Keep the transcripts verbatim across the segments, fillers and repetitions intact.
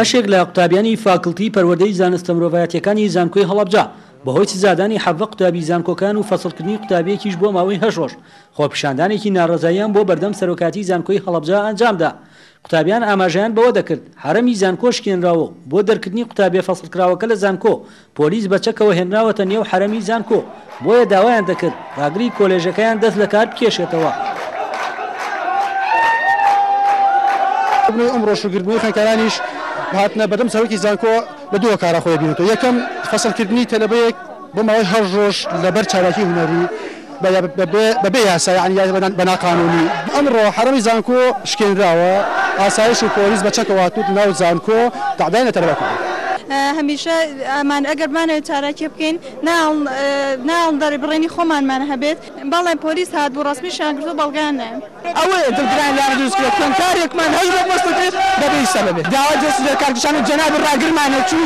بەشێک لە قوتابیانی فاکڵتی پەروەردەی زانستە مرۆڤایەتیەکانی زانکۆی هەڵەبجە بەهۆی سزادانی حەڤدە قوتابی زانکۆکان و فەسڵکردنی قوتابیەکیش بۆ ماوەی هەشت ڕۆژ خۆپیشاندانێکی ناڕەزاییان بۆ بەردەم سەرۆکاتی زانکۆی هەڵەبجە ئەنجامدا. قوتابیان ئاماژەیان بەوە دەکرد حەرەمی زانکۆ شکێنراوە بۆ دەرکردنی قوتابیە فەسڵکراوەکە لە زانکۆ پۆلیس بە چەکەوە هێنراوەتە نێو حەرەمی زانکۆ، بۆیە داوایان دەکرد ڕاگری کۆلێژەکەیان دەست لە کار بکێشێتەوە. ئەمڕۆ شوگردنەوەی خوێندکارانیش هاتنە بەردەم سەرۆکی زانکۆ لە دوو کارە خۆی بینێتەوە. یەکەم فەسڵکردنی تەلەبەیەک بۆ ماوەی هەشت ڕۆژ لەبەر چالاکی هونەری بەبێ یاسا، یعنی بە ناقانونی. ئەمڕۆ حەرەمی زانکۆ شکێنراوە، ئاسایش و پۆلیس بە چەکەوە هاتووت ناو زانکۆ تەعدای لە تەلەبە کردووە. هەمیشە ئەمان ئەگەر بمانەوێت چالاکی بکەین ناڵ دەربڕینی خۆمانمان هەبێت، بەڵێ پۆلیس هات بوو ڕەسمیشیان کردو بەڵگەیان نایە. ئەوەیە دڵگران لایان دروست کرد، خوێندکارێکمان هەشت ڕۆژ فەسڵ کرد بەبێ سەبەبێت. داوا دەست لە کارکێشان جەنابی ڕاگرمانە چوو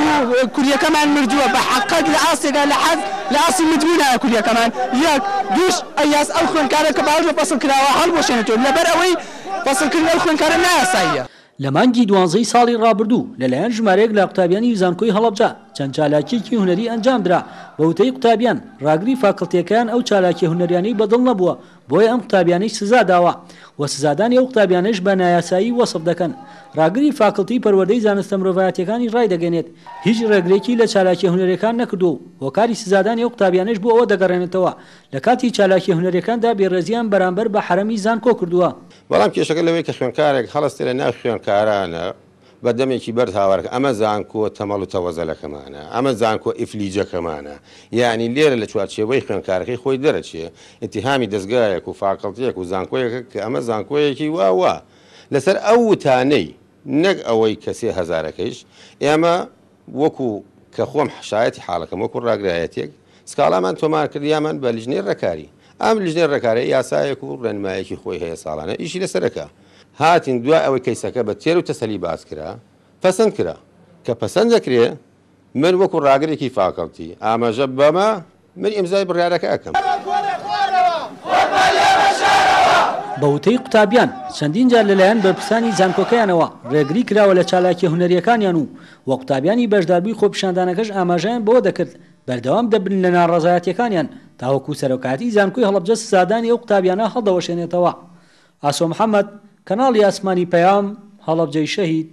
کوریەکەمان مردووە بە حەقەت لە ئاستێکا لە حەز لە ئاستی مردبوونایە کوریەکەمان. یەک دووش ئەیاس ئەو خوێندکارە کە باوەش بە فەسڵ کراوە هەڵبوەشێنێتەوە، لەبەر ئەوەی فەسڵکردن ئەو خوێندکارە نایاساییە. لە مانگی دوانزەی ساڵی ڕابردوو لەلایەن ژمارەیەک لە قوتابیانی زانکۆی هەڵەبجە چەند چالاکیەکی هونەری ئەنجامدرا. بە وتەی قوتابیان ڕاگری فاکڵتیەکەیان ئەو چالاکی هونەریانەی بەدڵ نەبووە، بۆیە ئەم قوتابیانەی سزا داوە و سزادانی ئەو قوتابیانەش بە نایاسایی وەسف دەکەن. ڕاگری فاکڵتی پەروەردەی زانستە مرۆڤایەتیەکانی ڕایدەگەێنێت هیچ ڕێگرێکی لە چالاکی هونەریەکان نەکردووە و هۆکاری سزادانی ئەو قوتابیانەش بۆ ئەوە دەگەڕێنێتەوە لە کاتی چالاکی هونەریەکاندا بێڕێزیان بەرامبەر بە حەرەمی زانکۆ کردووە. بەڵام کێشەکە لەوەی کە خوێندکارێک هەڵستێ لە ناو خوێندکارانە بە دەمێکی بەرز هاوارەکە ئەمە زانکۆ تەمەڵ و تەوەزەلەکەمانە، ئەمە زانکۆ ئیفلیجەکەمانە، یعنی لێرە لە چوارچێوەی خوێندکارەکەی خۆی دەرەچێ ئیتیهامی دەستگایەک و فاکڵتیەک و زانکۆیەکە کە ئەمە زانکۆیەکی وا وا لەسەر ئەو وتانەی نەک ئەوەی کە سێ هەزارەکەیش ئێمە وەکو کە خۆم شایەتی حاڵەکەم وەکو ڕاگرایەتێک سکاڵامان تۆمار کرد یامان بە لیژنەی ڕێکاری. ئەم لیژنەی ڕێکاری یاسایەک و ڕێنمایەکی خۆی هەیە ساڵانە ئیشی لەسەرەکە. هاتین دوای ئەوەی کەیسەکە بە تێر و تەسەلی باس کرا پەسەند کرا، کە پەسەند دەکرێ من وەکو ڕاگرێکی فاکەڵتی ئاماژە بەمە من ئیمزای بڕیارەکە ئەکەم. بە وتەی قوتابیان چەندین جار لەلایەن بەرپرسانی زانکۆکەیانەوە ڕێگری کراوە لە چالاکی هونەریەکانیان و وە قوتابیانی بەشداربووی خۆپیشاندانەکەش ئاماژەیان بەوە دەکرد بەردەوام دەبن لە ناڕەزایەتیەکانیان تاوەکو سەرۆکاتی زانکۆی هەڵەبجە سزادانی ئەو قوتابیانە هەڵدەوەشێنێتەوە. ئاسۆ محەممەد، کەناڵی ئاسمانی پەیام، هەڵەبجەی شەهید.